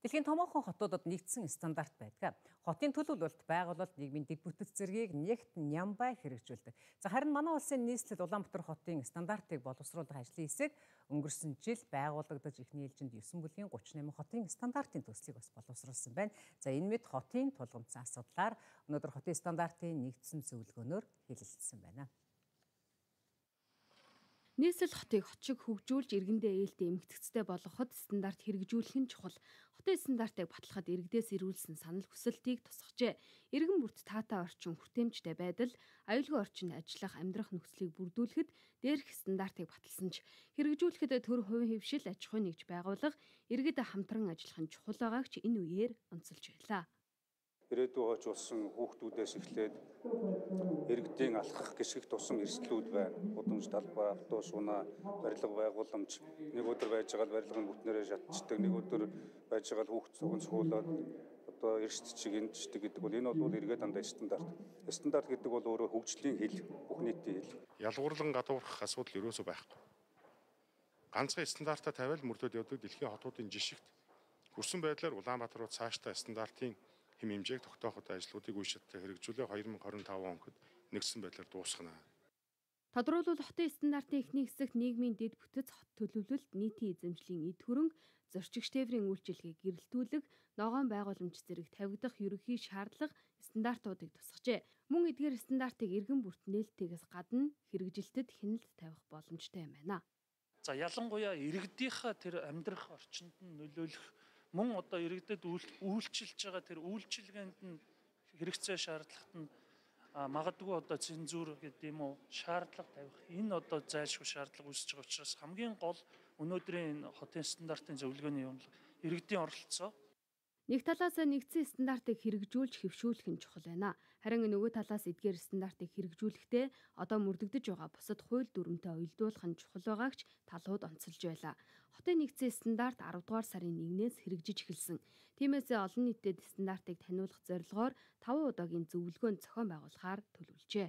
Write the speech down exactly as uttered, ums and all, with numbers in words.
Дэлхийн томоохон хотуудад нэгдсэн стандарт байдаг. Хотын төлөвлөлт байгуулалт нийгмийн дэд бүтэц зэргийг нэгт нямбай хэрэгжүүлдэг. За харин манай улсын нийслэл Улаанбаатар хотын стандартыг боловсруулах ажлын хэсэг өнгөрсөн жил байгуулагдаж эхний ээлжинд есөн бүлгийн гуравч найман хотын стандартын төслийг бас боловсруулсан байна. За энэ мэд хотын тулгымцсан асуудлаар өнөөдөр хотын стандартын нэгдсэн зөвлөгөөнөөр хэлэлцсэн байна. Нийслэл хотыг хот шиг хөгжүүлж иргэндээ ээлтэй эмгэгцтэй болгоход стандарт хэрэгжүүлэх нь чухал. Хотын стандартыг батлахад иргэдээс ирүүлсэн санал хүсэлтийг тусгажээ. Иргэн бүрт таатай орчин хүртээмжтэй байдал, аюулгүй орчинд ажиллах амьдрах нөхцөлийг бүрдүүлэхэд дээрх стандартыг баталсан ч хэрэгжүүлэхэд төр хувийн хөвшил аж ахуй нэгж байгуулах, иргэд хамтран ажиллах нь чухал байгааг ч энэ үеэр онцолж байлаа. Ирээдүйн хойч болсон хүүхдүүдээс эхлээд иргэдийн алхах гисгэх тусам эрсдлүүд байна. Удамж талбай, автобус, унаа, барилга байгууламж нэг өдөр байж байгаа барилгын бүтнээрээ шатчихдаг, нэг өдөр байж байгаа хүүхд цуган цуулаад одоо эрсдэж гинждэг гэдэг бол энэ бол эргээд дандаа стандарт. Стандарт гэдэг бол өөрөө хөгжлийн хэл, бүх нийтийн хэл. Ялгуурлан гадуурхах асуудал ерөөсөө байхгүй. Ганцхан стандартаа тавиал мөрдөд явдаг дэлхийн хотуудын жишгт хүрсэн байдлаар Улаанбаатар руу цаашдаа стандартын хэм хэмжээг тогтооход ажлуудыг үе шаттай хэрэгжүүлээ хоёр мың хорин таван онд нэгдсэн байдлаар дуусгана. Тодруулбал хотын стандартын эхний хэсэгт нийгмийн дэд бүтэц, хот төлөвлөлт, нийтийн эзэмшлийн эд хөрөнг, зорчигч тээврийн үйлчилгээг гэрэлтүүлэг, ногоон байгууламж зэрэг тавигдах ерөнхий шаардлага стандартуудыг тусгажээ. Мөн эдгээр стандартыг иргэн бүрт нээлттэйгээс гадна хэрэгжилтэд хяналт тавих боломжтой юм байна. За ялангуяа иргэдийнхээ тэр амьдрах орчинд нь нөлөөлөх мөн одоо иргэдэд үйлчилж байгаа тэр үйлчилгээнд нь хэрэгцээ шаардлагат нь магадгүй одоо цензур гэдэг юм уу шаардлага тавих энэ одоо зайлшгүй шаардлага үүсэж байгаа учраас хамгийн гол өнөөдрийн хотын стандартын зөвлөгөөний юм иргэдийн оролцоо. Нэг талаас нэгдсэн стандартыг хэрэгжүүлж хэвшүүлэх нь чухал байна. Харин нөгөө талаас эдгээр стандартыг хэрэгжүүлэхдээ одоо мөрдөгдөж байгаа бусад хууль дүрмтэй уялдуулах нь чухал байгаагч талууд онцолж байлаа. Хотын нэгдсэн стандарт аравдугаар сарын нэгнээс хэрэгжиж эхэлсэн. Тиймээс олон нийтэд стандартыг таниулах зорилгоор таван удаагийн зөвлөгөөнд зохион байгуулахаар төлөвлөжээ.